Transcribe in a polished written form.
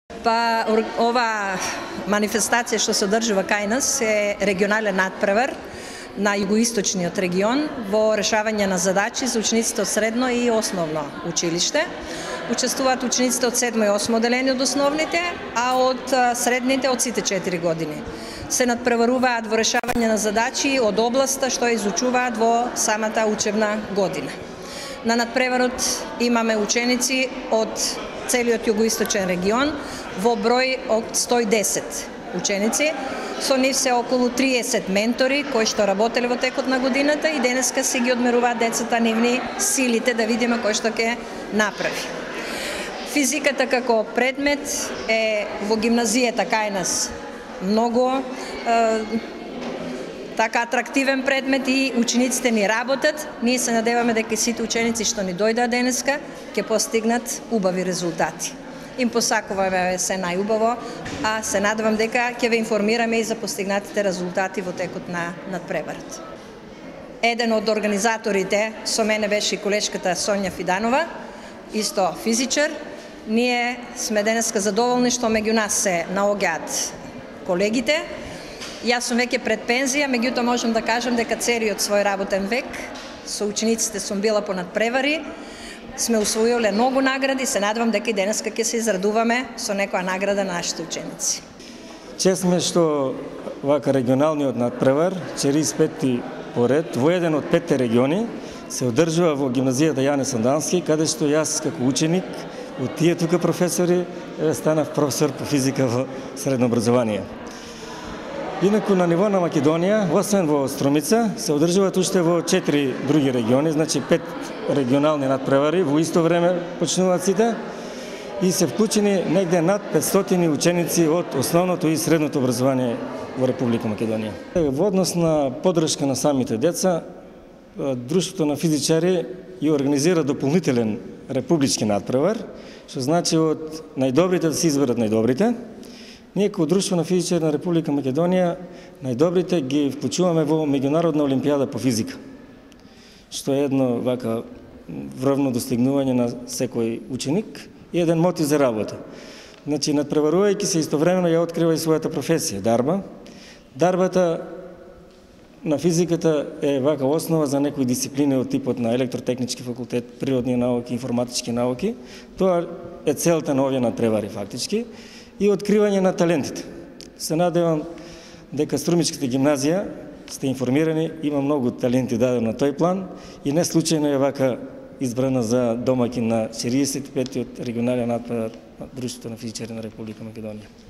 Па ова манифестација што се одржува кај нас е регионален надпревар на југоисточниот регион во решавање на задачи за учениците од средно и основно училиште. Учествуваат учениците од 7 и 8 одделение од основните, а од средните од сите 4 години. Се надпреваруваат во решавање на задачи од областа што изучуваат во самата учебна година. На надпреварот имаме ученици од целиот југоисточен регион во број од 110 ученици. Со нив се околу 30 ментори кои што работеле во текот на годината и денеска си ги одмеруваат децата нивни силите да видиме кој што ќе направи. Физиката како предмет е во гимназијата кај нас многу така атрактивен предмет и учениците ни работат. Ние се надеваме дека сите ученици што ни дојдат денеска ќе постигнат убави резултати. Им посакуваме се најубаво, а се надевам дека ќе ве информираме и за постигнатите резултати во текот на надпреварот. Еден од организаторите со мене беше и колешката Сонја Фиданова, исто физичар. Ние сме денеска задоволни што меѓу нас се наоѓаат колегите. Јас сум веќе пред пензија, меѓутоа можам да кажам дека целиот свој работен век со учениците сум била по надпревари, сме усвоиле многу награди, се надевам дека и денеска ќе се израдуваме со некоја награда на нашите ученици. Чест сме што вака регионалниот надпревар, 45-ти поред, во еден од 5 региони, се одржува во гимназијата Јане Сандански, каде што јас како ученик од тие тука професори станав професор по физика во средно образование. Инаку на ниво на Македонија, освен во Струмица, се одржуваат уште во 4 други региони, значи 5 регионални надпревари, во исто време почнуваат сите и се вклучени негде над 500 ученици од основното и средното образование во Република Македонија. Во однос на поддршка на самите деца, Друштвото на физичари и организира дополнителен републички надпревар, што значи од најдобрите да се изберат најдобрите. Ние како Друштво на физичари на Република Македонија најдобрите ги вклучуваме во меѓународна олимпијада по физика, што е едно вака врвно достигнување на секој ученик и еден мотив за работа. Значи, надпреварувајќи се истовремено ја открива и својата професија, дарба. Дарбата на физиката е вака основа за некои дисциплини од типот на електротехнички факултет, природни науки, информатички науки. Тоа е целта на овие надпревари фактички и откривање на талентите. Се надевам дека Струмичката гимназија, сте информирани, има многу таленти дадено на тој план и не случајно е вака избрана за домаќин на 45-тиот регионален надпревар на Друштвото на физичари на Република Македонија.